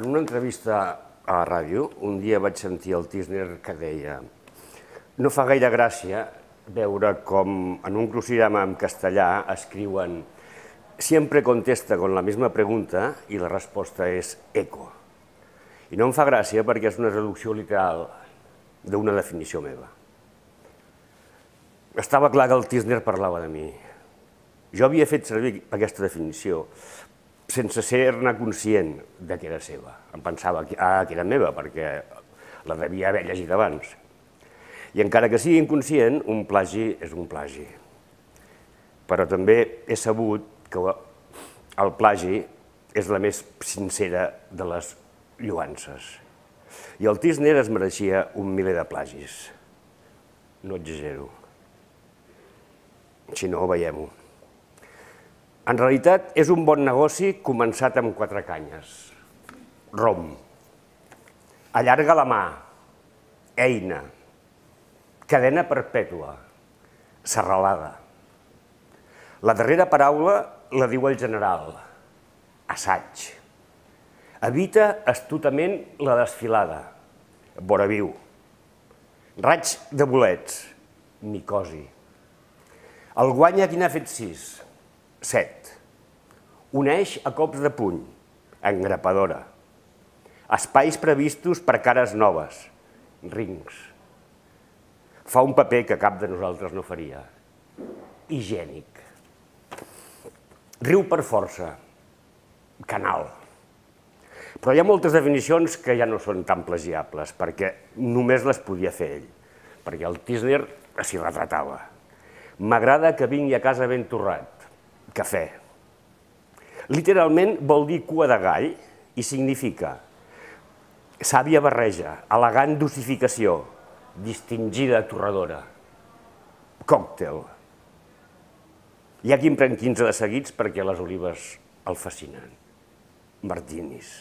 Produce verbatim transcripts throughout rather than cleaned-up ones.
En una entrevista a la ràdio, un dia vaig sentir el Tísner que deia: no fa gaire gràcia veure com en un crucigrama en castellà escriuen «siempre contesta con la misma pregunta» i la resposta és «eco». I no em fa gràcia perquè és una traducció literal d'una definició meva. Estava clar que el Tísner parlava de mi. Jo havia fet servir aquesta definició sense ser-ne conscient de que era seva. Em pensava que era meva perquè la devia haver llegit abans. I encara que sigui inconscient, un plagi és un plagi. Però també he sabut que el plagi és la més sincera de les lloances. I el Tísner es mereixia un miler de plagis. No exagero. Si no, veiem-ho. En realitat, és un bon negoci començat amb quatre canyes. Rom. Allarga la mà. Eina. Cadena perpètua. Serralada. La darrera paraula la diu el general. Assaig. Evita astutament la desfilada. Voraviu. Raig de bolets. Micosi. El guanya qui n'ha fet sis. Set. Uneix a cops de puny. Engrapadora. Espais previstos per cares noves. Rings. Fa un paper que cap de nosaltres no faria. Higiènic. Riu per força. Canal. Però hi ha moltes definicions que ja no són tan plagiables, perquè només les podia fer ell, perquè el Tísner s'hi retratava. M'agrada que vingui a casa ben torrat. Cafè. Literalment vol dir cua de gall i significa sàvia barreja, elegant dosificació, distingida torradora. Còctel. Hi ha qui en pren quinze de seguits perquè les olives el fascinen. Martinis.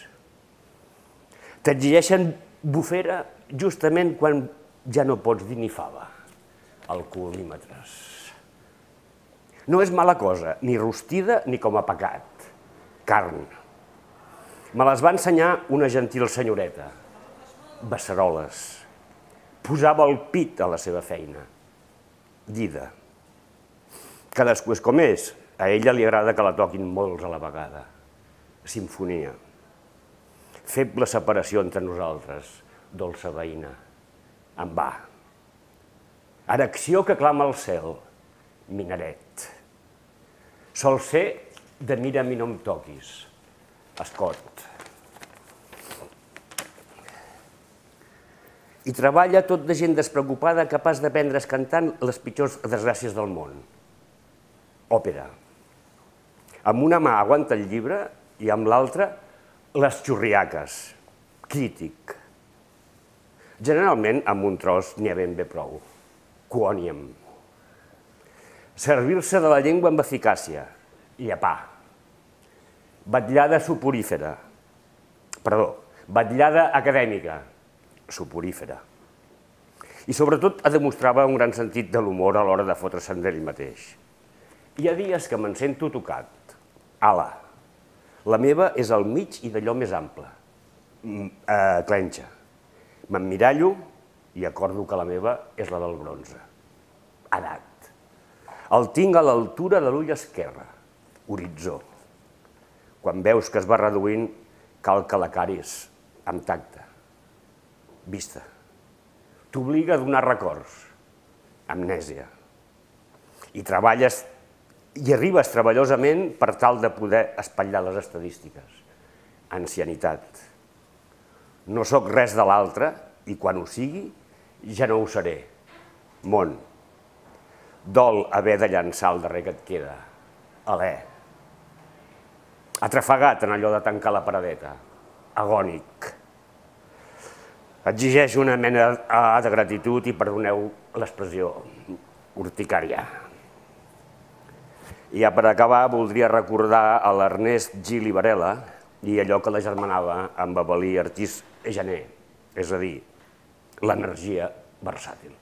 T'exigeixen bufera justament quan ja no pots dir ni fava. Alcoholímetres. No és mala cosa, ni rostida ni com a pecat. Carn. Me les va ensenyar una gentil senyoreta. Beceroles. Posava el pit a la seva feina. Dida. Cadascú és com és. A ella li agrada que la toquin molts a la vegada. Simfonia. Feble separació entre nosaltres. Dolça veïna. En va. Erecció que clama al cel. Minaret. Sol ser de mira'm i no em toquis. Escot. I treballa tot de gent despreocupada capaç de prendre's cantant les pitjors desgràcies del món. Òpera. Amb una mà aguanta el llibre i amb l'altra les xurriaques. Crític. Generalment amb un tros n'hi ha ben bé prou. Quòniam. Servir-se de la llengua amb eficàcia. Llepar. Vetllada soporífera. Perdó, vetllada acadèmica. Soporífera. I sobretot demostrava un gran sentit de l'humor a l'hora de fotre-se'n d'ell mateix. Hi ha dies que me'n sento tocat. Ala. La meva és al mig i d'allò més ample. Clenxa. M'emmirallo i acordo que la meva és la del bronze. Edat. El tinc a l'altura de l'ull esquerre. Horitzó. Quan veus que es va reduint, cal que la caris amb tacte. Vista. T'obliga a donar records. Amnèsia. I treballes i arribes treballosament per tal de poder espatllar les estadístiques. Ancianitat. No sóc res de l'altre i quan ho sigui ja no ho seré. Món. Dol haver de llançar el darrer que et queda. Alè. Atrafegat en allò de tancar la paradeta. Agònic. Exigeix una mena de gratitud i perdoneu l'expressió urticària. I ja per acabar voldria recordar a l'Ernest Gil i Varela i allò que l'agermanava amb Avel·lí Artís Janer, és a dir, l'energia versàtil.